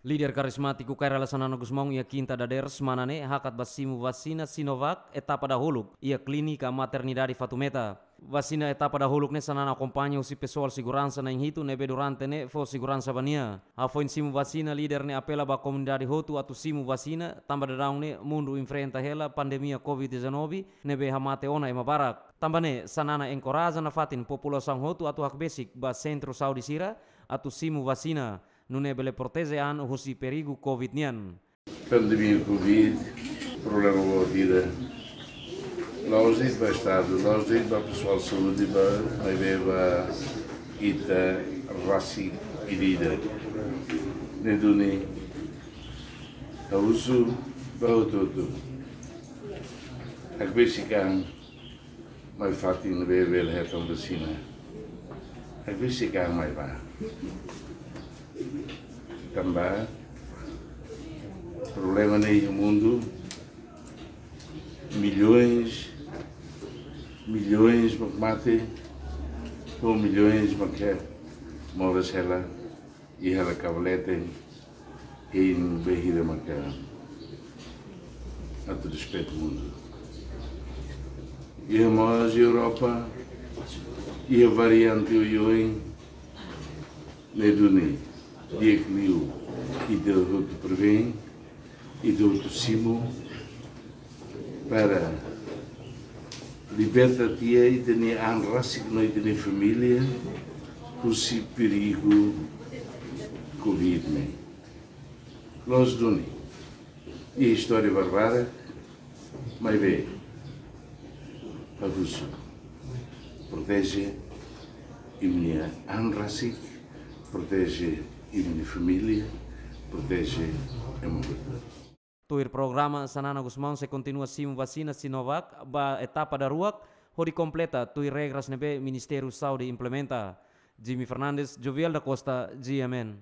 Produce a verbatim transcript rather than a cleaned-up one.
Líder karizmátiku Kay Rala Xanana Gusmão iha kinta dadeer semana ne'e hakat ba simu vasina Sinovac etapa dahuluk iha Klínika Maternidade Fatumeta. Vasina etapa dahuluk ne'e Xanana akompaña husi pesoál seguransa na'in hitu ne'ebé durante ne'e fó seguransa ba nia. Hafoin simu vasina, líder ne'e apela ba komunidade hotu atu simu vasina, tanba daudaun ne'e mundu enfrenta hela pandemia covid dezanove ne'ebé hamate ona ema barak. Tanba ne'e, Xanana enkoraja nafatin populasaun hotu atu hakbesik ba sentru saúde sira atu simu vasina, nune'e bele proteje an husi perigu covid nian. Pandemia covid, problema boot ida. La'ós de'it ba Estadu, la'ós de'it ba pesoál saúde, ba, maibé ba ita rasik ida-idak. Ne'e duni, ha'u husu ba hotu-hotu. Hakbesik an mai fatin ne'ebé bele hetan vasina. Hakbesik an mai bá. Tanba problema ne'e iha mundu, milhões, milhões mak mate, ou milhões mak moras hela, iha hela kabalete, hein bainhira maka atu despeita mundu. Iha mós Europa, iha variante oioin, ne'e duni, di'ak liu, ita hotu prevene, ita hotu simu, para liberta tiha ita-nia an rasik no ita-nia família husi perigu covid ne'e. Loos duni, iha istória barak-barak, maibé, ha'u husu, proteje imi-nia an rasik, proteje imi-nia família, proteje ema hotu. Tuir programa, Xanana Gusmão sei kontinua simu vasina Sinovac ba etapa daruak, hodi kompleta tuir regras ne'ebé Ministériu Saúde implementa. Jimmy Fernandes, Joviel da Costa, G M N.